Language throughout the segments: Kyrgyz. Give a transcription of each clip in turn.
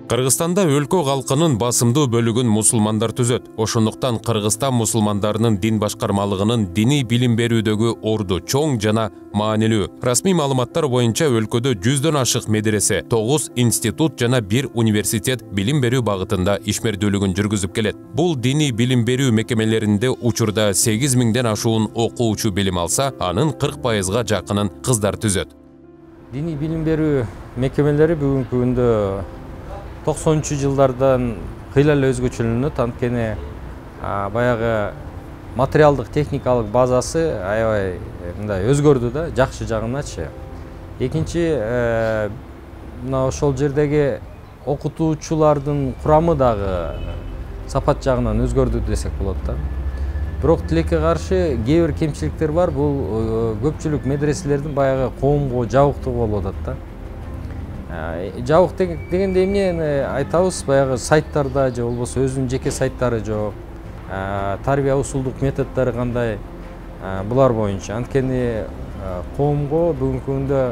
Кыргызстанда өлкө калкынын басымдуу бөлүгүн мусулмандар түзөт. Ошондуктан Кыргызстан мусулмандарынын дин башкармалыгынын диний билим берүүдөгү орду чоң жана маанилүү. Расмий маалыматтар боюнча өлкөдө 100дөн ашык медресе, 9 институт жана 1 университет билим берүү багытында ишмердүүлүгүн жүргүзүп келет. Бул диний билим берүү мекемелеринде учурда 8000ден ашуун окуучу билим алса, анын 40%га жакынын кыздар түзөт. Диний билим берүү мекемелери бүгүнкү күндө 90-жылдардан кыйла эле өзгөчөлөнөт. Анткени баягы материалдык техникалык базасы аябай мындай өзгөрдү да, жакшы жагыначы. Экинчи мына ошол жердеги окутуучулардын курамы дагы сапат жагынан өзгөрдү десек болот да. Бирок тилекке каршы кээ бир кемчиликтер бар. Бул көпчүлүк медреселердин баягы коомго жабыктуу болуп атат да. Жабык дегенде эмне айтабыз, баягы сайттарда же болбосо өзүнүн жеке сайттары жок. Тарбия усулдук методдору кандай, булар боюнча. Анткени коомго бүгүнкү күндө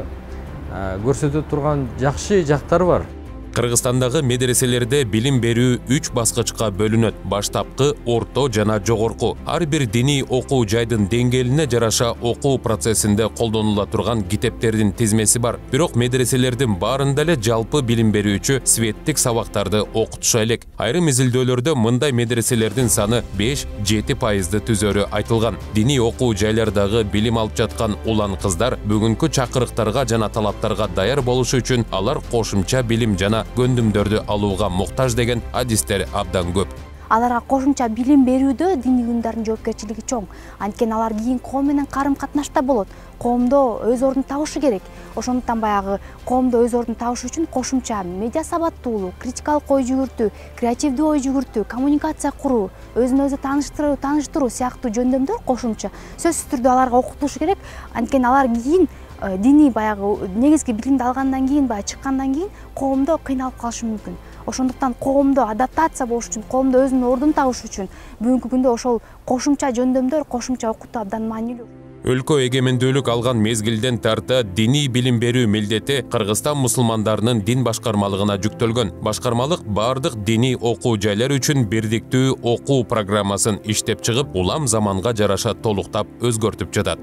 көрсөтө турган жакшы жактары бар. Кыргызстандагы медреселерде билим берүү 3 баскычка бөлүнөт: баштапкы, орто жана жогорку. Ар бир диний окуу жайдын деңгээлине жараша окуу процессинде колдонула турган китептердин тизмеси бар. Бирок медреселердин баарында эле жалпы билим берүүчү светтик сабактарды окутуша элек. Айрым изилдөөлөрдө мындай медреселердин саны 5-7% түзөрү айтылган. Диний окуу жайлардагы билим алып жаткан улан кыздар бүгүнкү чакырыктарга жана талаптарга даяр болушу үчүн алар кошумча билим жана көндүмдөрдү алууга муктаж деген адистер абдан көп. Аларга кошумча билим берүүдө диний уюмдардын жоопкерчилиги чоң. Анткени алар кийин коом менен карым-катнашта болот. Коомдо өз ордун табышы керек. Ошондуктан баягы коомдо өз ордун табыш үчүн кошумча медиа сабаттуулук, критикалык ой жүгүртүү, креативдүү ой жүгүртүү, коммуникация куруу, өзүн өзү тааныштыруу сыяктуу жөндөмдөр кошумча сөзсүз түрдө аларга окутулушу керек. Анткени алар кийин диний баягы негизги билимди алгандан кийин, баягы чыккандан кийин коомдо кыйналып калышы мүмкүн. Ошондуктан коомдо адаптация болуш үчүн, коомдо өзүнүн ордун табыш үчүн бүгүнкү күндө ошол кошумча жөндөмдөр, кошумча окутуу абдан маанилүү. Өлкө эгемендүүлүк алган мезгилден тарта диний билим берүү милдети Кыргызстан мусулмандарынын дин башкармалыгына жүктөлгөн. Башкармалык бардык диний окуу жайлар үчүн бирдиктүү окуу программасын иштеп чыгып, улам заманга жараша толуктап өзгөртүп жатат.